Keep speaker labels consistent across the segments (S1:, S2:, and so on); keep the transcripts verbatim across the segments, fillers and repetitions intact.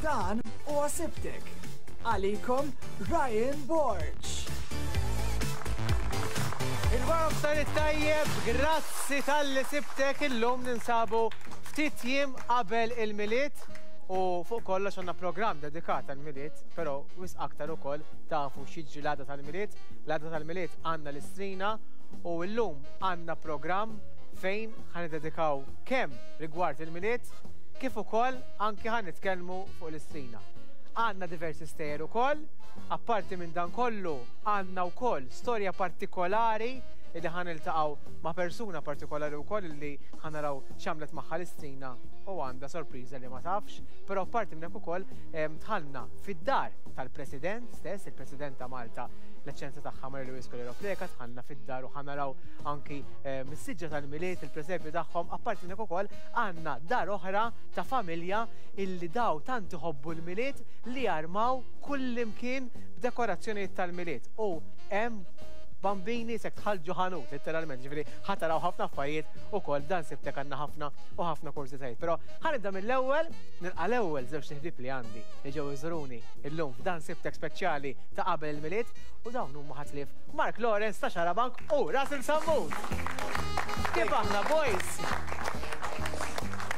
S1: Dan huwa Sibtek. Għalikom Ryan Borg.
S2: Il-wara nofsinhar it-tajjeb, grazzi talli sibtek. Illum ninsabu ftit jiem qabel il-Milied u fuq kollox għandna programm dedikat għal-Milied, però wisq aktar ukoll tafu x'jiġri l-għada tal-Milied. L-għada tal-Milied għandna l-Istrina u llum għandna programm fejn ħa niddedikaw kemm rigward il-Milied kif ukoll anki ħa nitkellmu fuq l-Istrina. Għandna diversi stejjer ukoll, apparti minn dan kollu għandna wkoll storja partikolari illi ħa niltaqgħu ma' persuna partikolari wkoll illi ħa naraw x'għamlet magħha l-Istrina u għandha sorpriża li ma tafx, però apparti minn hekk ukoll dħalna fid-dar tal-President stess, il-President ta' Malta, l-Eċċellenza Tagħha Marie Louise Coleiro Preca, dħalna fid-dar u ħa naraw anki mis-siġra tal-Milied, il-presepju tagħhom. Apparti minn hekk ukoll għandna dar oħra ta' familja illi daw tant iħobbu l-Milied li jarmaw kull imkien b'dekorazzjonijiet tal-Milied. U hemm bambini sek tħalġu ħanut, letteralment, ġifieri ħa taraw ħafna affarijiet ukoll dan Sibtek, għandna ħafna u ħafna kurżitajiet. Però ħa nibda mill-ewwel, nilqa' l-ewwel żewġ ħbieb li għandi li ġew iżuruni illum f'dan Sibtek speċjali ta' qabel il-Milied u dawn huma ħatlif Mark Lawrence ta' Xarabank u Russell Sammut. Kif aħna, boys?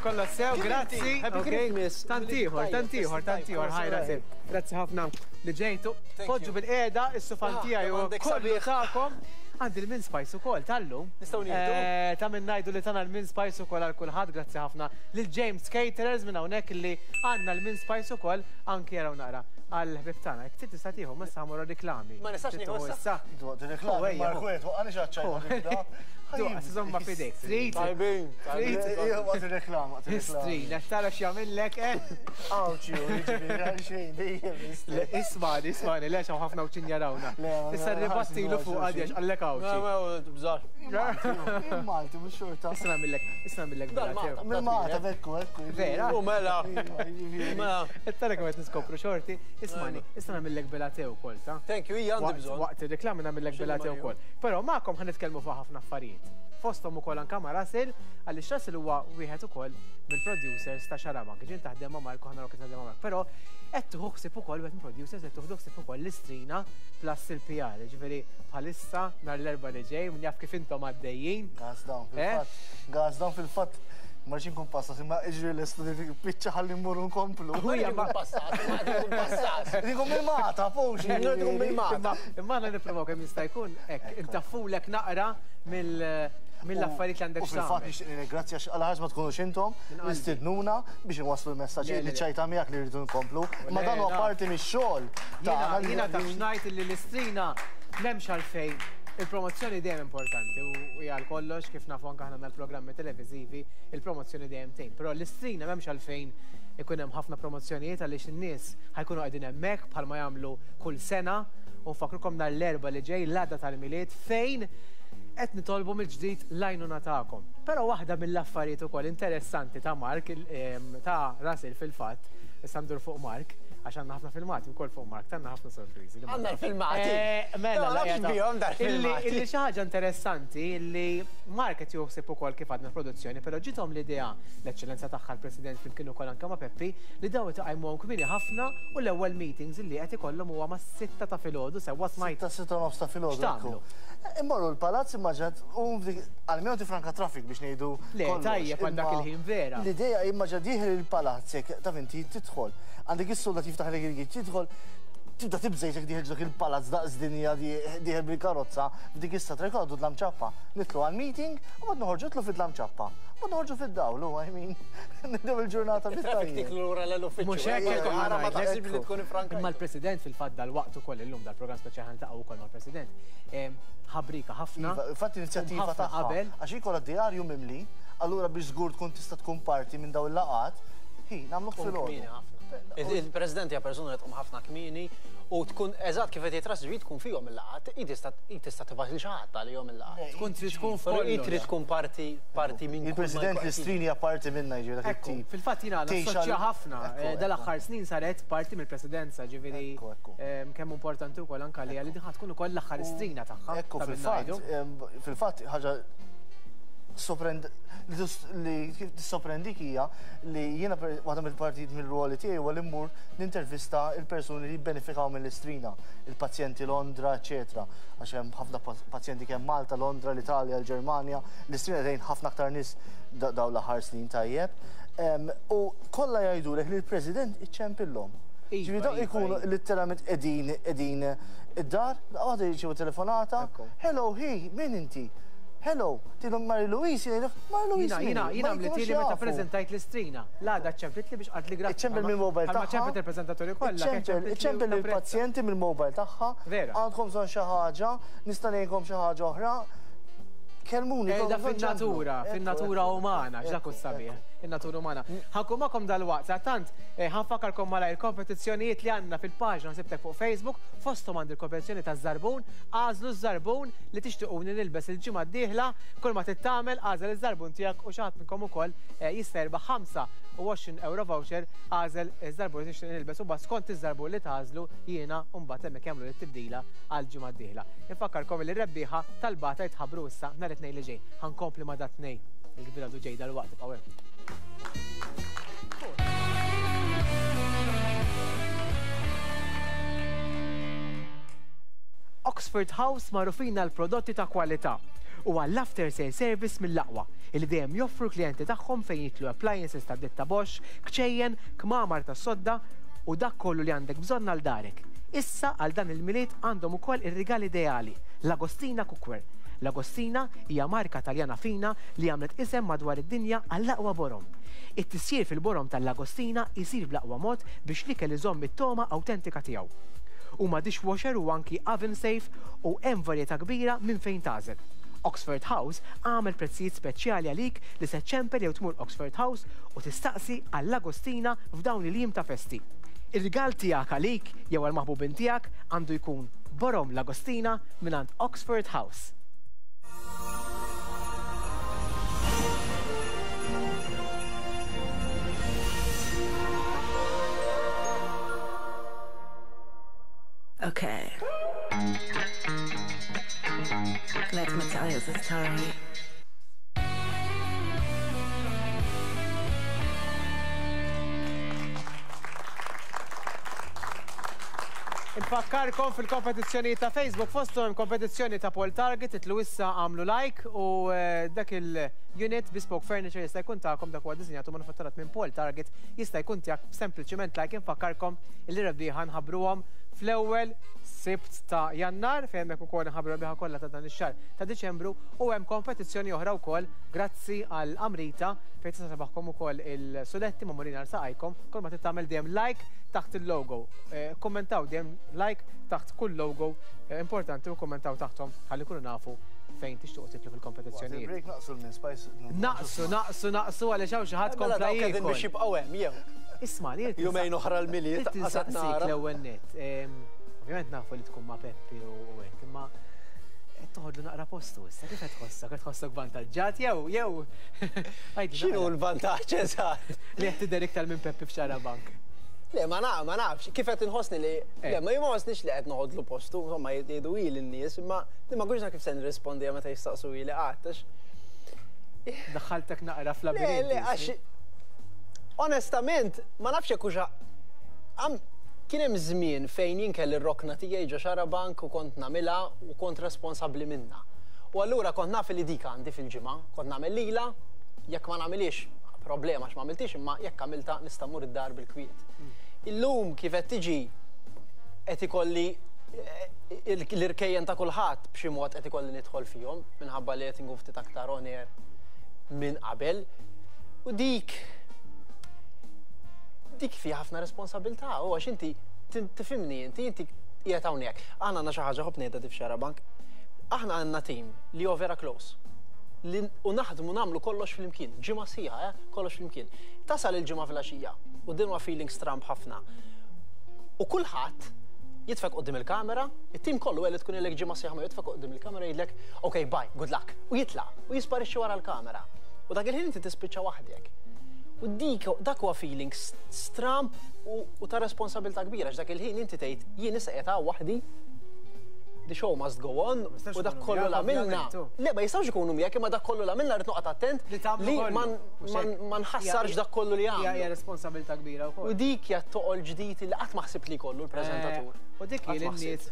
S2: Kollha sew, grazzi.
S3: Happy Christmas.
S2: Tantiħor, tantiħor, tantiħor, hi Russell. Grazzi ħafna li ġejtu. Poġġu bilqiegħda, is-sufan
S3: Ah,
S2: tiegħi u
S3: għandek
S2: kollu
S3: sabiħ.
S2: tagħkom. Għandi l-mince pies ukoll tal-lum.
S3: Nistgħu nieħdu?
S2: Eh, Ta' minn ngħidu li tana l-mince pies ukoll għal kulħadd, grazzi ħafna lil James Caterers minn hawnhekk li għandna l-mince pies ukoll anki jaraw naqra għal ħbib tagħna. Jekk trid tista' tieħu, ma issa ħamur riklami.
S3: Ma nistax
S2: Trid
S3: nieħu
S2: tieħu
S3: issa?
S2: issa.
S4: Dwaqt
S2: Oh,
S4: il-reklami,
S2: ejja,
S4: Mark, wait, waqqani xaċċajta.
S2: Duqa, żomma f'idejk. Trid?
S3: Tajbin.
S2: Trid?
S4: Waqt il-reklam, waqt il-reklam.
S2: Istri, tara x'jagħmillek, eh?
S4: Awċi, jiġifieri, għal xejn, dejjem
S2: Le, ismani, ismani, lex hawn ħafna uċin jarawna.
S4: Le, ma-
S2: Issa
S4: ma-
S2: ribattilu fuq għadjax għallek awċi.
S3: Bżar.
S4: Malti, mhux xorta.
S2: Issa nagħmillek, issa nagħmillek
S3: Dan
S2: bella
S3: Malta.
S4: Minn Malta, bekku, ekku.
S2: Vera?
S3: U mela.
S4: Mela.
S3: Mela.
S2: Tara kemm qed niskopru xorti, ismani, issa nagħmillek bella te wkoll, ta?
S3: Thank you, hija għandi
S2: Waqt
S3: bżonn.
S2: waqt ir-reklami nagħmillek
S3: X'inhu
S2: bella te
S3: Mario?
S2: wkoll. Però magħkom ħa nitkellmu fuq ħafna affarijiet. Fosthom ukoll anke ma' Russell, għaliex Russell huwa wieħed ukoll mill-producers ta' Xarabank. Ġin taħdem ma' Marko, ħa naraw kif taħdem ma' Marko. Però qed tieħu ħsieb ukoll wieħed mill-producers qed tieħdu ħsieb ukoll l-Istrina plus il-P R. Ġifieri bħalissa nhar l-Erbgħa li ġej, min jaf kif intom għaddejjin.
S4: Gas down,
S2: Eh?
S4: fil-fatt. Gas down fil-fatt. Ma rridx inkun passat, imma iġri l-estudi biċċa ħalli mmorru nkomplu.
S3: Ma rridx passat, ma rridx passat.
S4: Dikum il-mata, fux.
S3: Dikum il-mata.
S2: Imma imma aħna nippruvaw kemm jista' jkun hekk intaffulek naqra mill mill-affarijiet li għandek
S4: U fil-fatt
S2: x'tagħmel.
S4: nixtieq nirringrazzja għax għal ħaġa ma tkunux intom,
S2: Minn qalbi.
S4: istidnuna biex inwasslu l-messaġġ
S2: Le, le,
S4: li
S2: le.
S4: ċajta miegħek li rridu nkomplu. Ma
S2: Le,
S4: dan huwa
S2: naf.
S4: parti mix-xogħol
S2: Jiena
S4: tagħna li-
S2: jiena taf x'ngħid li l-Istrina m'hemmx għalfejn il-promozzjoni dejjem importanti u hija għal kollox, kif nafu anke aħna l-programmi televiżivi, il-promozzjoni dejjem tgħin. Però l-Istrina m'hemmx għalfejn ikun hemm ħafna promozzjonijiet għaliex in-nies ħa jkunu qegħdin hemmhekk bħalma jagħmlu kull sena u nfakrukom nhar l-Erbgħa li ġej, l-għada tal-Milied, fejn qed nitolbu mill-ġdid l-għajnuna tagħkom. Però waħda mill-affarijiet ukoll interessanti ta' Mark, il- em, ta' Russell fil-fatt, issa ndur fuq Mark, għax għandna ħafna filmati wkoll fuq Mark, għandna ħafna sorpriżi. li ma
S3: Għandna l-filmati.
S2: Eh, mela,
S3: Ma
S2: la
S3: nafx
S2: qiegħda.
S3: bihom dar
S2: Illi
S3: filmati.
S2: illi xi ħaġa interessanti illi Mark qed juħsib ukoll kif għadna produzzjoni, però ġiethom l-idea l-Eċċellenza Tagħha l-President flimkien ukoll anke ma' Peppi li daw iqajmuhom kmieni ħafna u l-ewwel meetings illi qed ikollhom huwa mas-sitta ta' filgħodu, sewwa smajt?
S4: Sitta, sitta u nofs ta' filgħodu.
S2: X'tagħmlu?
S4: Ekku. Immorru l-palazz immaġat u għalmenu tifranka traffic biex ngħidu
S2: Le,
S4: kollox.
S2: tajjeb għal dak
S4: Imma
S2: il-ħin vera.
S4: L-idea immaġa dieħel il-palazz jekk taf inti tidħol. Għandek is-soldat jiftaħ lek il-gate, tidħol, tibda tibżejt jekk dieħel dak il-palazz daqs dinja, dieħel bil-karozza f'dik is-satra jkollu dlam ċappa. Nitlu għal-meeting u bad noħorġu tlu fid-dlam ċappa. Bad noħorġu fid-dawl, I mean, nibdew il-ġurnata
S3: Traffic
S4: fit-tajjeb.
S3: tiklu lura l-uffiċċju.
S2: Mhux hekk
S3: Eh,
S2: hekk
S3: Ara ma
S2: ngħidlek.
S3: taħsibx li tkun ifranka.
S2: Imma l-President fil-fatt dal-waqt ukoll illum dal-programm speċjali ħa niltaqgħu wkoll mal-President. Em, Ħabrika ħafna.
S4: Iva, infatti inizjattiva
S2: ħafna
S4: tagħha.
S2: qabel.
S4: Għax ikolla djarju mimli, allura biex żgur tkun tista' tkun parti minn dawn il-laqgħat, hi nagħmlu
S3: Tkun
S4: filgħodu.
S3: kmieni ħafna. Il-President hija persuna li tqum ħafna kmieni u tkun eżatt kif qed jitras ġbid tkun fihom il-laqgħat, hi tista' hi tista' tibgħat lil xi ħadd għalihom il-laqgħat.
S2: Tkun trid tkun
S3: Però hi
S2: f'kollox.
S3: trid tkun parti parti minn kull ma
S4: Il-President
S3: jkun.
S4: l-Istrini hija parti minna, jiġri dak
S2: Ekku,
S4: it-tip.
S2: fil-fatt jiena
S4: Tgħix
S2: nassoċja
S4: għal-
S2: ħafna.
S4: Ekku,
S2: Eh,
S4: ekku.
S2: Dal-aħħar snin saret parti mill-presidenza, ġifieri
S4: Ekku, ekku.
S2: em, kemm importanti wkoll anke li għalli din tkun ukoll l-aħħar Istrina tagħha.
S4: Ekku,
S2: ta' min
S4: fil-fatt,
S2: ngħidu.
S4: em, fil-fatt, ħaġa li tissorprendik hija li jiena waħda mill-partijiet mill-ruoli tiegħi huwa li mmur nintervista il-persuni li jibbenefikaw mill-Istrina, il-pazjenti Londra, eċetera. Għax hemm ħafna pazjenti kemm Malta, Londra, l-Italja, l-Ġermanja, l-Istrina tgħin ħafna aktar nies dawn l-aħħar snin tajjeb. U kollha jgħidulek li l-President iċċempillhom. Ġifieri dawn ikunu letteralment qegħdin qegħdin id-dar, waħda jirċievu telefonata, hello, hi, min inti? Hello, tgħidilhom Mary Louise, jgħidulek Mary Louise.
S2: Jiena, jiena għamlitli meta prezentajt l-Istrina. L-għada ċemplitli biex qaltli grazzi.
S4: Iċċempel mill-mobile tagħha.
S2: Ċempel il-preżentaturi kollha.
S4: Iċċempel il-pazjenti mill-mobile tagħha.
S2: Vera.
S4: Għandkom bżonn xi ħaġa, nista' ngħinkom xi ħaġa oħra. Kelmuni.
S2: Qiegħda fin-natura, fin-natura umana, x'dak hu sabiħ, in-natura umana. Ħa nkun magħkom dalwaqt, tant ħa nfakkarkom malajr il-kompetizzjonijiet li għandna fil-paġna Ħsibtek fuq Facebook, fosthom għandi l-kompetizzjoni taż-żarbun, għażlu ż-żarbun li tixtiequni nilbes il-ġimgħa d-dieħla, kull ma trid tagħmel għażel iż-żarbun tiegħek u xi ħadd minnkom ukoll jista' jirbaħ ħamsa u għoxrin euro voucher għażel iż-żarbun li tixtieq nilbes u mbagħad skont iż-żarbun li tagħżlu jiena mbagħad hemmhekk jagħmlu t-tibdila għall-ġimgħa d-dieħla. Infakkarkom li r-rebbieħa tal-bata jitħabbru issa nhar it-Tnejn li ġej. Ħa nkompli ma' dat tnejn il-kbira du ġej dal-waqt ibqgħu hemm. Oxford House magħrufin għal prodotti ta' kwalità u għall-after sale service mill-aqwa li dejjem joffru klijenti tagħhom fejn jitlu appliances ta' ditta Bosch, kċejjen, kmamar ta' sodda u dak kollu li għandek bżonn għal darek. Issa għal dan il-Milied għandhom ukoll ir-rigal ideali, l-Agostina Cookware. L-Agostina hija marka Taljana fina li għamlet isem madwar id-dinja għall-aqwa borom. It-tisjir fil-borom tal-Agostina jsir bl-aqwa mod biex l-ikel iżomm it-toma awtentika tiegħu. Huma dishwasher u anki oven safe u hemm varjetà kbira minn fejn tagħżel. Oxford House għamel prezzijiet speċjali għalik li se ċempel jew tmur Oxford House u tistaqsi għall-Agostina f'dawn il-jiem ta' festi. Ir-rigal tiegħek għalik jew għall-maħbubin tiegħek għandu jkun borom l-Agostina mingħand Oxford House.
S5: Okay. Let me tell you the story.
S2: Infakkarkom fil-kompetizzjoni ta' Facebook, fosthom kompetizzjoni ta' Paul Target, itlu issa għamlu like u dak il-unit Bespoke Furniture jista' jkun tagħkom, dak huwa disinjat u manufatturat minn Paul Target, jista' jkun tiegħek sempliċiment like. Infakkarkom li rebbieħa nħabbruhom fl-ewwel Sibt ta' Jannar, fejn hemmhekk ukoll nħabbru rebbieħa kollha ta' dan ix-xahar ta' Diċembru, u hemm kompetizzjoni oħra wkoll grazzi għal Amrita fejn tista' tebaħkom ukoll il-suletti ma' Molina saqajkom, kull ma trid tagħmel dejjem like taħt il-logo. Kommentaw dejjem like taħt kull logo importanti u kommentaw taħthom ħalli kunu nafu fejn tixtuq titlu fil-kompetizzjonijiet.
S4: Naqsu l-min spice.
S2: Naqsu, naqsu, naqsu għaliex hawn xi ħadd kompla jiekol.
S3: Biex jibqgħu hemm jew.
S2: Isma' li
S3: jumejn oħra l-Milied
S2: qasad nara. L-ewwel nett. Ovvjament nafu li tkun ma' Peppi u hekk, imma qed toħodlu naqra postu issa, kif qed tħossok? Qed tħossok vantaġġat jew jew
S3: X'inhu l-vantaġġ eżatt?
S2: Li qed tidher iktar minn Peppi f'Xarabank.
S3: Le, ma naf, ma nafx, kif qed inħossni li le, ma jien ma ħossnix li qed noħodlu postu, insomma jgħidu ili n-nies, imma ma nkunx naf kif se nirrispondi meta jistaqsu ili qatt għax.
S2: Daħħaltek naqra fl-labirint.
S3: Le, le, għax onestament, ma nafx jekk hux kien hemm żmien fejn jien kelli r-rokna tiegħi ġo Xarabank u kont nagħmilha u kont responsabbli minnha. U allura kont naf li dik għandi fil-ġimgħa, kont nagħmel lila, jekk ma nagħmilix problema għax ma għamiltix, imma jekk għamilta nista' mmur id-dar bil-kwiet. Illum kif qed tiġi qed ikolli l-irkejjen ta' kulħadd b'xi mod qed ikolli nidħol fihom minħabba li qed inkun ftit aktar on air minn qabel. U dik dik fiha ħafna responsabilità, u għax inti tifhimni, inti inti qiegħed hawnhekk. Aħna għandna xi ħaġa ħobb ngħidha di f'Xarabank. Aħna għandna team li huwa vera close. U naħdmu nagħmlu kollox flimkien, ġimgħa sħiħa, kollox flimkien. Tasal il-ġimgħa filgħaxija u din huwa feeling stramb ħafna. U kulħadd jitfek quddiem il-kamera, it-tim kollu li tkun ilek ġimgħa sħiħa ma jitfek quddiem il-kamera jgħidlek, ok, bye, good luck, u jitlaq, u jisparixxi wara l-kamera. U dak il-ħin inti tispiċċa waħdek. U dik dak huwa feeling stramb u ta' responsabilità kbira, għax dak il-ħin inti tgħid jien issa qiegħed hawn waħdi The show must go on, u dak kollu l-għamilna. Le, ma jistgħux ikunu miegħek, imma dak kollu l-għamilna rrid noqgħod attent li ma nħassarx dak kollu li għamlu.
S2: Hija responsabilità kbira wkoll.
S3: U dik hija toqol ġdid li qatt ma ħsibt li jkollu l-preżentatur.
S2: U dik hi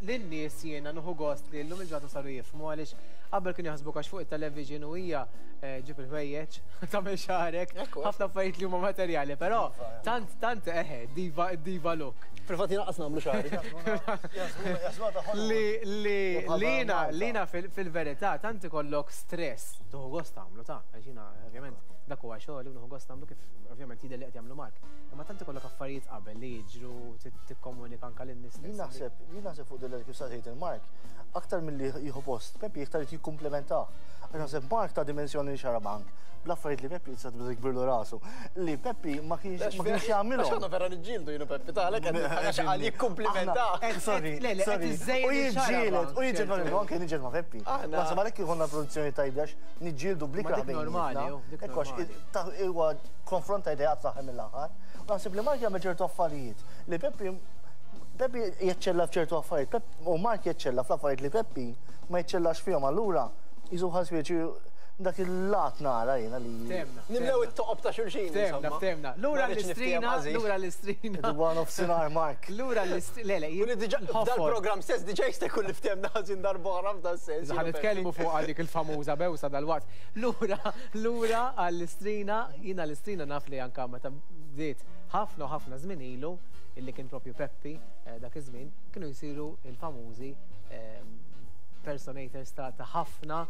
S2: lin-nies jiena nieħu gost li llum il-ġurnata saru jifhmu għaliex qabel kienu jaħsbu għax fuq it-television u hija ġib il-ħwejjeġ, tagħmel xagħrek, ħafna affarijiet li huma materjali, però tant tant eħe diva diva look.
S3: Fil-fatt jiena qas nagħmlu xagħri.
S2: Li li lina lina fil-verità tant ikollok stress, tieħu gost tagħmlu ta' għax jiena ovvjament dak huwa xogħol u nieħu gost nagħmlu kif ovvjament jidher li qed jagħmlu Mark. Imma tant ikollok affarijiet qabel li jiġru tikkomunika anke lin-nies.
S4: Jien naħseb, jien naħseb fuq dil kif saqsejt il-Mark, aktar milli jieħu post, Peppi iktar irid jikkumplementah. Għax naħseb Mark ta' dimensjoni Xarabank, bl-affarijiet li Peppi jista' tibda tikbirlu rasu. Li Peppi ma kienx ma kienx jagħmilhom.
S3: Għax aħna vera niġġieldu jienu Peppi tagħlek għax qal jikkumplementah.
S4: Sorry, sorry. U jiġġieled, u jiġġieled anke niġġieled ma' Peppi. Naħseb għalhekk ikollna produzzjoni tajba għax niġġieldu bl-ikrah
S2: normali.
S4: Huwa konfront ta' ideat saħħa mill-aħħar. U naħseb li Mark jagħmel ċertu affarijiet li Peppi Peppi jeċċella f'ċertu affarijiet, u Mark jeċċella fl-affarijiet li Peppi ma jeċċellax fihom, allura jisu ħasbieċi dak il-lat nara jiena li.
S3: Nimlew it-toqob ta' xulxin.
S2: Temna, temna. Lura l-istrina, lura l-istrina.
S4: Dwar nofsinhar Mark.
S2: Lura l-istrina, le, le.
S3: Dal-programm stess diġà jista' jkun li ftemna ħażin darb'oħra f'dan sens.
S2: Ħa nitkellmu fuq dik il-famuża bewsa dal-waqt. Lura, lura għall-istrina, jiena l-istrina naf li anke meta bdiet ħafna u ħafna żmien ilu illi kien propju Peppi dak iż-żmien kienu jsiru il-famużi personators ta' ħafna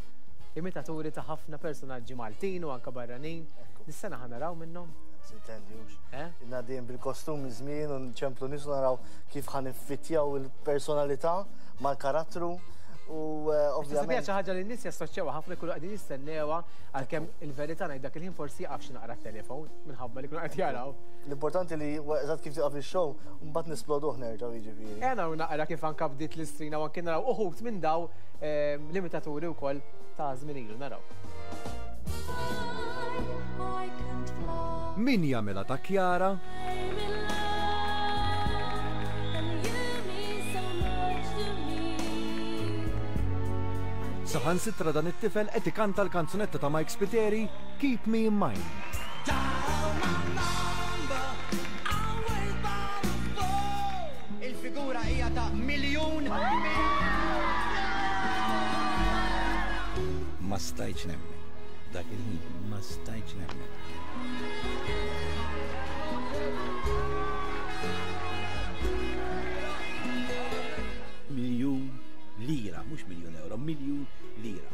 S2: imitaturi ta' ħafna personaġġi Maltin u anka barranin. Dis-sena ħa naraw minnhom?
S4: Sintendjux. Nadin bil-kostum iż-żmien u nċemplu nies naraw kif ħa niffittjaw il-personalità mal-karattru u ovvjament.
S2: Xi ħaġa li n-nies jassoċjawha ħafna jkunu qegħdin jistennewha għalkemm il-verità ngħid dak il-ħin forsi jaqaf xi naqra t-telefon minħabba li jkunu qed jaraw.
S4: L-importanti li eżatt kif tieqaf ix-show mbagħad nisploduh nerġgħu jiġifieri.
S2: Ejja naqra kif anke bdiet l-istrina u anke naraw uħud minn daw l-imitaturi wkoll ta' żmien ilu naraw.
S6: Min jagħmilha ta' Kjara? Saħansitra dan it-tifel qed ikanta l-kanzunetta ta' Mike Spiteri, Keep Me in Mind.
S7: Il-figura hija ta' miljun.
S8: Ma stajtx nemmen. Dak il-ħin ma stajtx nemmen. Miljun lira, mhux miljun euro, miljun lira.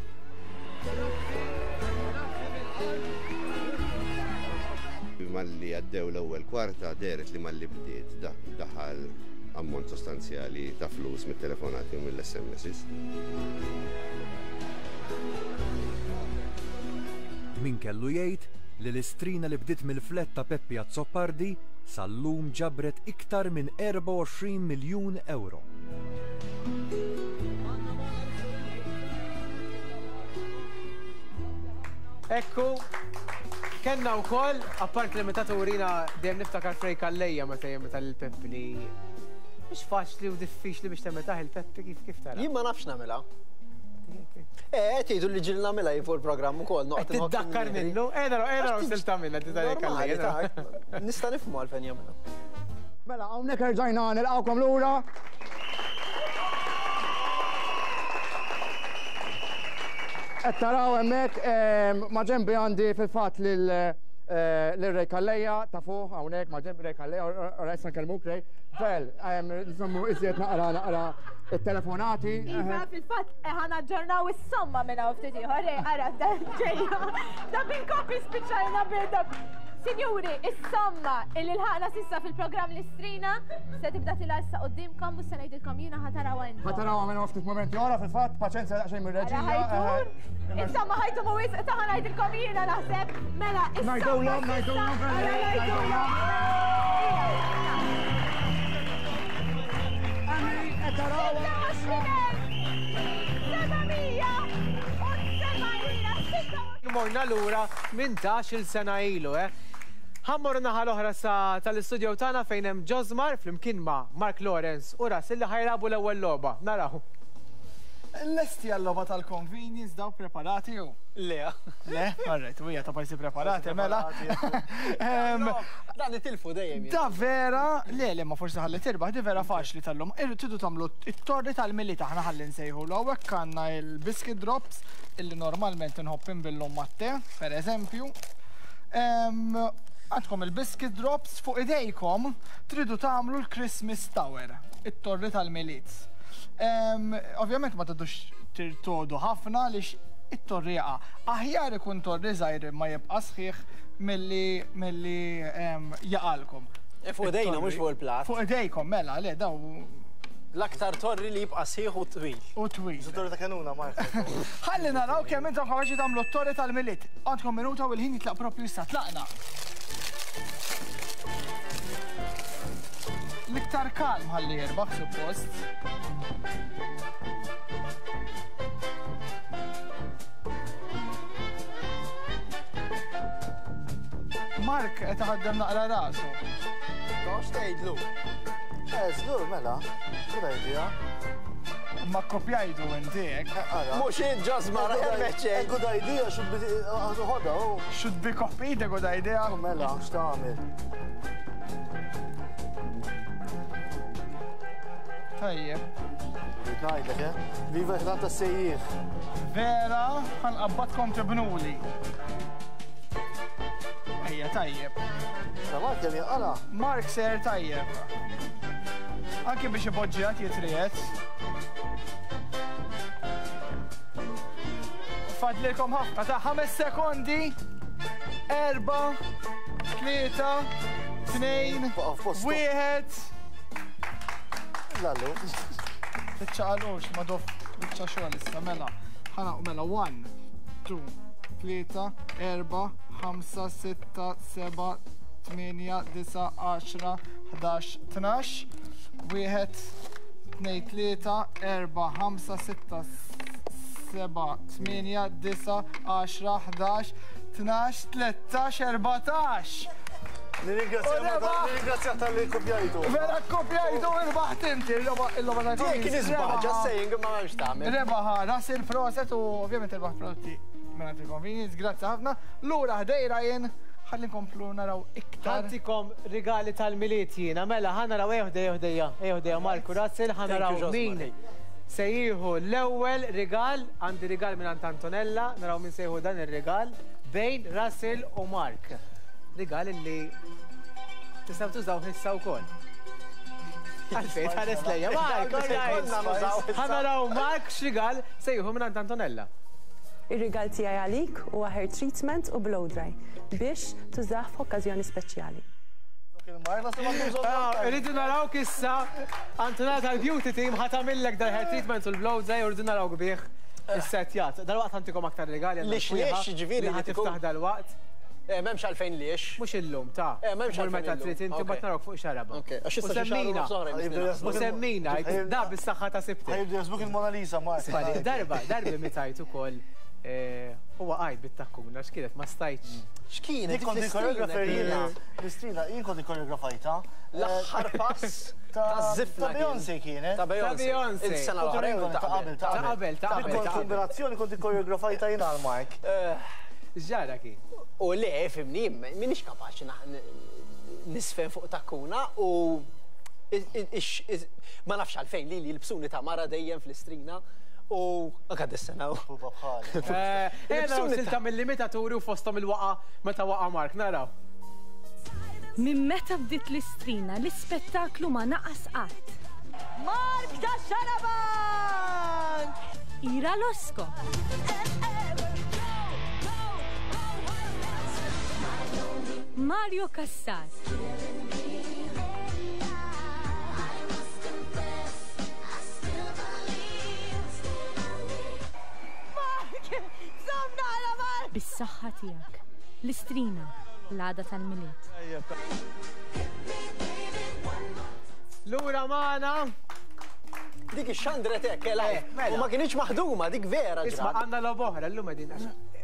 S9: Malli għaddew l-ewwel kwarta dehret li malli bdiet daħal ammont sostanzjali ta' flus mit-telefonati u mill-S M Ss.
S6: Min kellu jgħid li l-istrina li bdiet mill-flet ta' Peppi Azzopardi sal-lum ġabret iktar minn erbgħa u għoxrin miljun euro.
S2: Ekku, kellna wkoll, apart l-imitaturina dejjem niftakar Frey Calleja meta jimita lil Peppi li mhux faċli u diffiċli biex temitaħ il-Peppi kif kif tara.
S3: Jien ma nafx nagħmilha. Eh, tgħidu li ġil nagħmilha fuq il-programm ukoll noqgħod.
S2: Tiddakkar minnu, eh naraw, eh naraw silta minnha
S3: tiddakkar. Nista' nifhmu għalfejn jagħmilha.
S10: Mela hawnhekk erġajna nilqgħukom lura. Qed taraw hemmhekk ma' ġenbi għandi fil-fatt lil Ray Calleja ta' fuq hawnhekk ma' ġenbi Ray Calleja, ora issa nkellmuk Ray. Fel, nżommu iżjed naqra naqra it-telefonati.
S11: Iva, fil-fatt ħa naġġornaw is-somma minn hawn ftit ieħor, Ray, ara ġejja. Da bil-kopi spiċċajna bil Sinjuri, is-somma illi lħaqna sissa fil-programm l-istrina se tibda tilha issa qudiemkom u se ngħidilkom jiena ħa tarawha intom.
S10: Ħa tarawha minn ftit mumenti oħra fil-fatt, paċenzja daqsxejn mir-reġija.
S11: Insomma ħajtu mhuwiex ta' ħa ngħidilkom jiena naħseb. Mela, is-somma.
S10: Ngħidulhom, ngħidulhom, ngħidulhom.
S2: Morna lura minn tnax-il sena ilu, eh? Ħa mmorru naħa l-oħra sa tal-istudio tagħna fejn hemm Josmar flimkien ma' Mark Lawrence u Russell li ħajlabu l-ewwel logħba. Naraw.
S1: Lesti għall-logħba tal-convenience daw preparati u?
S3: Le.
S1: Le? Alright, u hija ta' pajsi preparati, mela.
S3: Dan itilfu dejjem.
S1: Da vera, le, le, ma forsi ħalli tirbaħ, di vera faċli tal-lum. Irridu tagħmlu it-torri tal-Milied aħna ħalli nsejħu l hawnhekk għandna il-biscuit drops illi normalment inħobb inbillhom mat-te, per eżempju. Għandkom il-biscuit drops fuq idejkom tridu tagħmlu l-Christmas Tower, it-torri tal-Milied. Ovvjament ma tridux tirtodu ħafna għaliex it-torri jaqa'. Aħjar ikun torri żgħir ma jibqa' sħiħ milli milli jaqalkom.
S3: Fuq idejna mhux fuq il-plat.
S1: Fuq idejkom mela, le daw.
S3: L-aktar torri li jibqa' sħiħ u twil.
S1: U twil.
S4: Torri ta' kanuna, Mark.
S1: Ħalli naraw kemm intom kapaċi tagħmlu t-torri tal-Milied. Għandkom minuta u l-ħin jitlaq propju issa tlaqna. L-iktar kalm ħalli jirbaħ suppost. Mark qed iħaddem naqra rasu.
S3: Tox tgħidlu.
S4: Eh, żgur mela. Good idea.
S1: Ma kopjajtu inti hekk.
S3: Mhux int ġożma
S4: A good idea should be ħodha.
S1: Should be copied a good idea.
S4: Mela, x'tagħmel?
S1: Tajjeb.
S4: Rrid ngħidlek, eh? Viva ħdan tas-sejjieħ.
S1: Vera, ħanqabbadkom tibnuli. Ejja, tajjeb.
S4: Ta' Mark kemm jaqala?
S1: Mark ser tajjeb. Anki biex ipoġġijat jitrijet. Fadlilkom ħafna ta' ħames sekondi. Erba, tlieta, tnejn, wieħed.
S4: Lallu.
S1: Tiċċaqalux, ma dof biċċa xogħol issa mela. Ħana mela one, two, tlieta, erba, ħamsa, sitta, seba, tmienja, disa, għaxra, ħdax, tnax, wieħed, tnejn, tlieta, erba, ħamsa, sitta, seba, tmienja, disa, għaxra, ħdax, tnax, tlettax, erbatax.
S4: Nirringrazzja tal-li kopjajtu.
S1: Vera kopjajtu, irbaħt inti, il-logħba tal-convenience.
S3: Kien iżbaħ, just saying, ma m'hemmx tagħmel.
S1: Rebaħ Russell proset u ovvjament irbaħ prodotti minn il-convenience, grazzi ħafna. Lura ħdej Ryan, ħalli nkomplu naraw iktar.
S2: Ħantikom rigali tal-Milied jiena, mela ħa naraw ejja ħdejja ħdejja, ejja ħdejja Marku Russell, ħa naraw min se jieħu l-ewwel rigal, għandi rigal minn Antonella, naraw min se jieħu dan ir-rigal bejn Russell u Mark. Rigal li tistgħu tużaw issa wkoll. Għalfejn tħares lejja, Mark, ħa naraw Mark x'rigal se jieħu minn Antonella.
S5: Ir-rigal tiegħi għalik huwa hair treatment u blow dry biex tużah f'okkażjoni speċjali.
S2: Irridu naraw issa Antonella tal-beauty team ħa tagħmillek dal-hair treatment u l-blow dry u rridu naraw kbih is-setjat. Dalwaqt ħantikom aktar rigali.
S3: Lix lix ġifieri
S2: li ħa tiftaħ dalwaqt.
S3: M'hemmx għalfejn liex.
S2: Mhux illum ta'
S3: m'hemmx għalfejn.
S2: Meta trid inti mbagħad narawk fuq xaraba.
S3: Għax issa xi
S2: U semmina, da bis-saħħa ta' sibtek.
S4: Ħajbdu jaħsbuk il-Mona Lisa, Mark.
S2: Darba, darba mitajt ukoll huwa qajt bit-takkuna, x'kienet ma stajtx.
S3: X'kienet?
S4: Jien kont il-koreografer jiena. L-istrina, jien kont il-koreografajta.
S3: L-aħħar pass ta' żifna.
S4: Ta' Beyoncé kienet.
S3: Ta' Beyoncé. Il-sena l-oħra
S4: ta' qabel,
S2: ta' qabel, ta' qabel.
S4: Kont kombinazzjoni kont il-koreografajta jiena għal Mark.
S2: X'ġara kien?
S3: U le, fimni, minix kapaċi nisfen fuq takkuna u ma nafx għalfejn li jilbsuni ta' mara dejjem fl-istrina u anka dis-sena.
S2: Naraw silta mill-limitaturi u fosthom il-waqa meta waqa Mark, naraw.
S12: Minn meta bdiet l-istrina, l-ispettaklu ma naqas qatt.
S11: Mark ta' Xarabank!
S12: Ira Losco. Mario Cassar. Bis-saħħa tiegħek. L-istrina, l-għada tal-Milied.
S2: Lura magħna.
S3: Dik ix-xandret hekk, u ma kienx maħduma, dik vera.
S2: Isma' għandna logħba oħra llum qegħdin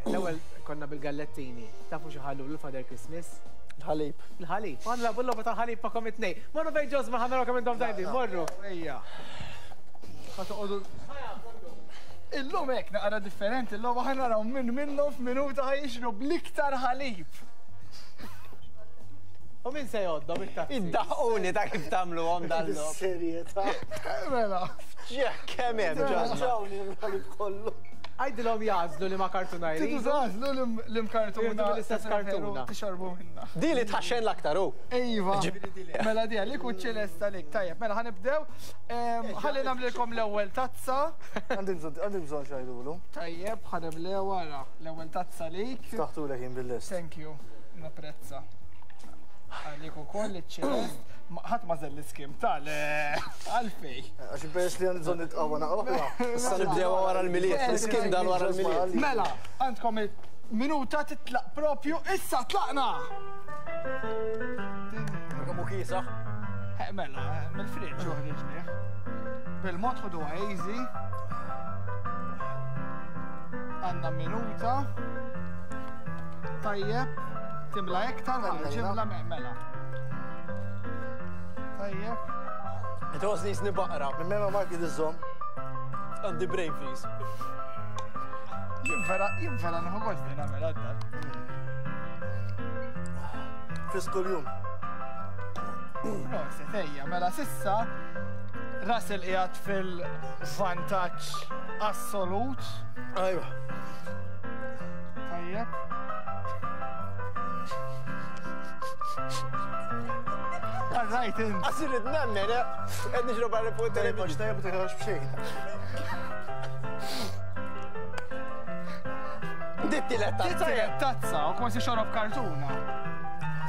S2: l-ewwel konna bil-gallettini. Tafu xi ħallu l-Father Christmas?
S3: Il-ħalib.
S2: Il-ħalib. Għandna lagħbu l-logħba tal-ħalib ma' kom it-tnejn. Morru fejn Ġosma ħa naraw kemm intom tajbin, morru.
S1: Ejja. Ħa toqgħodu. Illum hekk naqra differenti, illum aħna naraw minn minnhom f'minuta ħa jixrob l-iktar ħalib.
S2: U min se jgħoddhom it-tazzi?
S3: Iddaħquni ta' kif tagħmluhom dal-logħob.
S4: Serjetà.
S1: Mela.
S3: Kemm hemm ġanna.
S4: Ġawni l-ħalib kollu.
S2: Għajdilhom jagħżlu li ma kartuna
S1: Tridu
S2: jridu.
S1: tagħżlu l-imkartuna.
S2: Jridu l-istess kartuna.
S1: Tixorbu minna.
S3: Di li tħaxxen l-aktar hu.
S1: Iva. Mela di għalik u ċelesta għalik. Tajjeb, mela ħa nibdew. Ħalli nagħmlilkom l-ewwel tazza.
S4: Għandi bżonn għandi bżonn x'għidulu.
S1: Tajjeb, ħa nibdew wara l-ewwel tazza lik.
S4: Ftaħtulek jien bil-lest.
S1: Thank you. Napprezza. Għalik ukoll iċ-ċelest. Ħadd ma żell l-iskim tal għalfej.
S4: Għax peress li għandi bżonn nitqawwa naqra.
S3: Issa nibdew wara l-Milied, l-iskim dan wara l-Milied.
S1: Mela, għandkom il-minuta titlaq propju issa tlaqna!
S3: Kemm hu kiesaħ.
S1: Eh, Mela, mill-friġġ uħriġni. Bil-mod ħuduha easy. Għandna minuta. Tajjeb. Timla iktar, ġimla mela. Tajjeb.
S3: Tħossni jisni baqra.
S4: Minn mema Mark id-iżżomm.
S3: Għandi brain freeze.
S1: Jien vera, jien vera nieħu gost li nagħmel għadda.
S4: Fis kuljum.
S1: Proset, ejja, mela sissa Russell qiegħed fil-vantaġġ assolut.
S3: Ajwa.
S1: Tajjeb. All right, int.
S3: Għasir id nemmen, eh? Qed nixrob għal fuq
S4: Tajjeb,
S3: television.
S4: għax tajjeb u teħrax b'xejn.
S3: Ditti l tazza.
S1: Tittiret tazza u kważi xorob kartuna.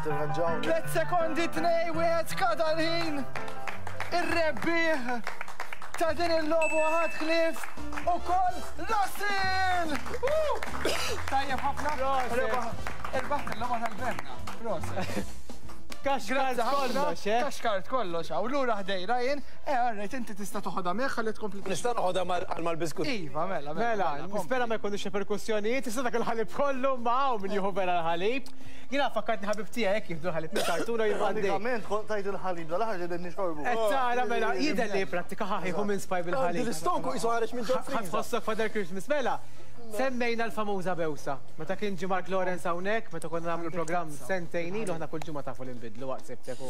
S4: Tirranġawni.
S1: Tlet sekondi, tnej, wieħed skada l-ħin. Ir-rebbieħ ta' din il-logħba ħadd ħlief ukoll Russell! Woo! Tajjeb ħafna. Irbaħt il-logħba tal-Benna. Proset.
S2: Kaxkart kollox, eh?
S1: Kaxkart kollox, hawn lura ħdej Ryan, eh alright, inti tista' toħodha miegħek ħalli tkompli.
S3: Nista' noħodha għal mal-biskut.
S1: Iva, mela,
S2: Mela, nispera ma jkunux reperkussjonijiet, issa dak il-ħalib kollu ma hawn min jieħu vera l-ħalib. Jiena fakkartni ħabib tiegħek jekk jieħdu l-ħalib minn kartuna u jibqa' għaddej.
S4: Pratikament kont tajt il-ħalib dal-aħħar ġedem nixorbu.
S2: Qed tara mela jidher li prattika ħaħiħu minn spaj bil-ħalib.
S3: L-istonku jisu ħareġ minn ġol
S2: Ħadd
S3: freezer.
S2: ħossok Father Christmas mela. Semmejna l-famuża bewsa. Meta kien ġie Mark Lawrence hawnhekk, meta konna nagħmlu l-programm sentejn ilu aħna kull ġimgħa tafu li nbidlu waqt sibtek u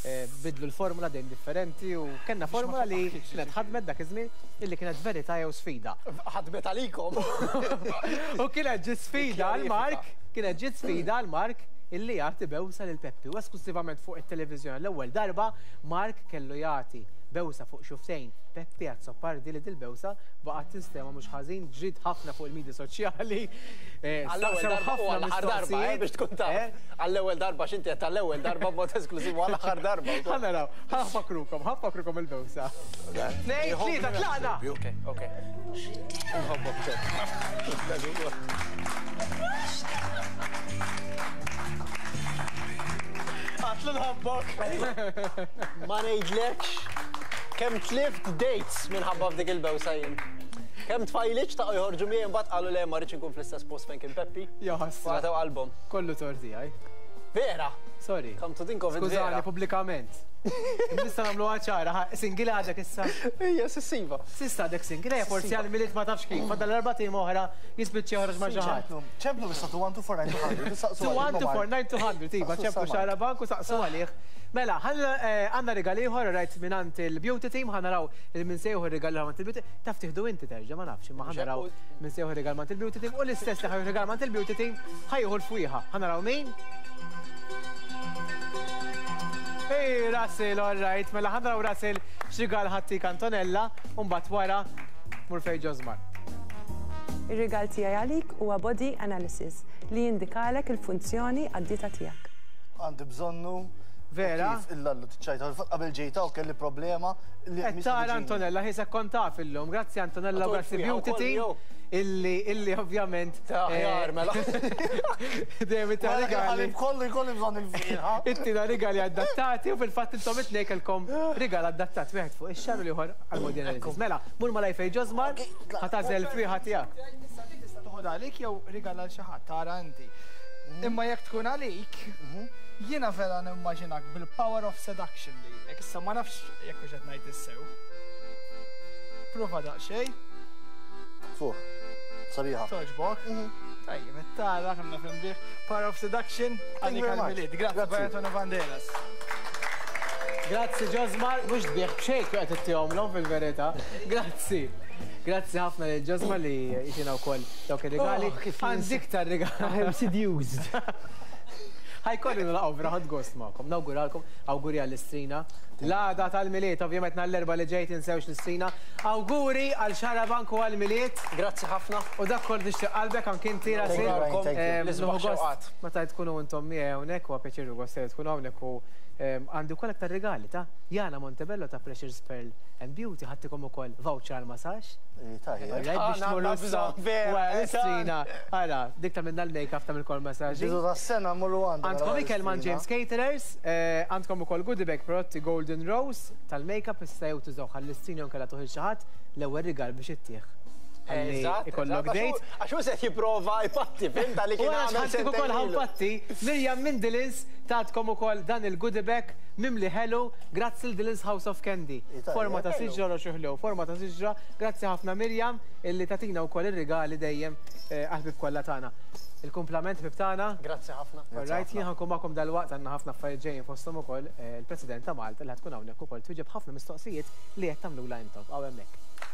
S2: eh, bidlu l-formula dejjem differenti u kellna formula li kienet ħadmet dak iż-żmien illi kienet verità jew sfida.
S3: Ħadmet għalikom.
S2: U kienet ġiet sfida għal Mark, kienet ġiet sfida għal Mark illi jagħti bewsa lil Peppi u esklusivament fuq it-televiżjoni l-ewwel darba Mark kellu jagħti bewsa fuq xuftejn Peppi Azzopardi li dil-bewsa baqgħet tinstema mhux ħażin ġrid ħafna fuq il-medja soċjali. eh,
S3: Għall-ewwel
S2: staqsew
S3: darba u
S2: ħafna
S3: għall-aħħar darba, eh,
S2: mistoqsijiet.
S3: biex tkun taf. Għall-ewwel darba x'inti qed tal-ewwel darba b'mod esklusiv u għall-aħħar darba.
S2: Ħa naraw, ħa nfakrukom, ħa nfakrukom il-bewsa. Tnejn, tlieta, tlaqna!
S3: Ok, ok. Nħobbok ġek.
S2: Għatlu nħobbok.
S3: Ma ngħidlekx kemm tlift dates minħabba f'dik il-bewsa jien. Kemm tfajliċ ta' joħorġu miegħi mbagħad qalu le ma rridx inkun fl-istess post fejn kien Peppi.
S2: Jaħasra.
S3: Għataw qalbhom.
S2: Kollu torti għaj.
S3: Vera!
S2: Sorry.
S3: Come to think of it,
S2: Skużani,
S3: vera.
S2: pubblikament. Nista' nagħmlu ċara, single għadek issa.
S3: Ija, sissiva.
S2: Sissa għadek single, ejja forsi għal Milied ma tafx kif. Fadal erba' tim oħra jispiċċa joħroġ ma' xi ħadd.
S4: ċemplu issa two one two four nine two hundred. Saqsu
S2: two one two
S4: għalik,
S2: four nine two hundred, iva,
S4: Saqsu
S2: ċemplu
S4: s-samar.
S2: Xarabank u saqsu għalih. Mela, għandna rigal ieħor rajt mingħand il-beauty team, ħa naraw il min se jieħu rigal ieħor mingħand il-beauty. Taf tieħdu inti terġa' ma nafx, imma ħa naraw min se jieħu rigal mingħand il-beauty team u l-istess li ħa jieħu rigal mingħand il-beauty team ħa jieħu l-fwieħa. Ħa naraw min? Ej, Russell, all right. Mela ħa naraw Russell x'rigal ħattik Antonella u mbagħad wara mur fejn Ġosmar.
S5: Ir-rigal tiegħi għalik huwa body analysis li jindikalek il-funzjoni għad-dieta tiegħek.
S4: Għandi bżonnu.
S2: Vera?
S4: Kif illallu tiċċajta, qabel ġejta u kelli problema li
S2: Qed tara Antonella, ħisek kont taf illum. Grazzi Antonella, u grazzi Beauty Team. Illi, illi ovvjament.
S3: Taħjar, mela.
S2: Dejjem ta' rigali.
S4: Kollu jkolli bżonn il-fieħa.
S2: Inti da rigali adattati u fil-fatt intom it-tnejn kellkom rigal adattat wieħed fuq ix-xahar u l-ieħor għall-body analysis. Mela, mur malaj fejn Ġosmar, ħa tagħżel fieħa tiegħek.
S1: Issa dik tista' toħodha għalik jew rigal għal xi ħadd tara inti. Imma jekk tkun għalik, jiena vera nimmaġinak bil-power of seduction lilek. Issa ma nafx jekk hux qed ngħid is-sew. Prova daqsxejn.
S4: Fuq. Sabiħa.
S1: Togħġbok? Tajjeb, tara kemm naf inbigħ. Power of Seduction, għalik
S4: very much.
S1: għal-Milied. Grazzi,
S4: Grazzi.
S1: Antonio Banderas.
S2: Grazzi Josmar, mhux tbigħ b'xejn qed ittihomlhom fil-verità. Grazzi. Grazzi ħafna lil Josmar li jtina wkoll dawk ir-rigali.
S3: Oh, kif
S2: Għandi iktar rigali.
S3: I am seduced.
S2: Ħa jkolli nilaqgħu vera ħadt gost magħkom. Nawguralkom, awguri għall-istrina. L-għada tal-Milied, ovvjament nhar l-Erbgħa li ġej tinsewx l-istrina. Awguri għal Xarabank u għal-Milied.
S3: Grazzi ħafna.
S2: U dak kollu nixtieq qalbek anke inti
S4: Thank you, Brian, thank you.
S3: L-isbaħ
S2: Nieħu gost
S3: xewqat.
S2: Meta tkunu intom miegħi hawnhekk huwa pjaċir u gost li tkunu hawnhekk u em, għandi wkoll aktar rigali ta' Jana Montebello ta' Precious Pearl and Beauty ħa ttikom ukoll voucher għal massage.
S4: Tajjeb.
S2: Alright, biex
S3: Ah,
S2: tmorru
S3: għandna
S2: issa
S3: bżonn, vera,
S2: wara l-istrina. Ara, dik ta' minna l-make-up ta' mill-kol massaġi.
S4: Bidu tas-sena mmorru għandha.
S2: Għandkom ikel man James Caterers, eh, għandkom ukoll goodie bag prodotti Golden Rose tal-make-up issa jew tużaw għall-istrina jew inkella tuħil xi ħadd l-ewwel rigal biex ittieħ. Ħalli
S3: Eżatt,
S2: ikollok
S3: eżatt,
S2: date.
S3: Għax hu se jipprova jpatti, fimta li
S2: U
S3: kien
S2: għana
S3: għamel
S2: ħa ntik ukoll
S3: sentejn ilu.
S2: ħa npatti, Mirjam minn Dylan's tatkom ukoll dan il-goodie bag mimli ħelu, grazzi l-Dylan's House of Candy.
S4: Tajjeb.
S2: Forma ta' siġra roxuħlu, forma ta' siġra, grazzi ħafna Mirjam illi tatina wkoll ir-rigali dejjem eh, għall-ħbieb kollha tagħna. Il-kumplament ħbieb tagħna.
S3: Grazzi ħafna.
S2: Alright, jien ħa nkun magħkom dalwaqt għandna ħafna affarijiet ġejjin fosthom ukoll eh, il-President ta' Malta li ħa tkun hawnhekk ukoll twieġeb ħafna mistoqsijiet li qed tagħmlula intom. Hawn hemmhekk.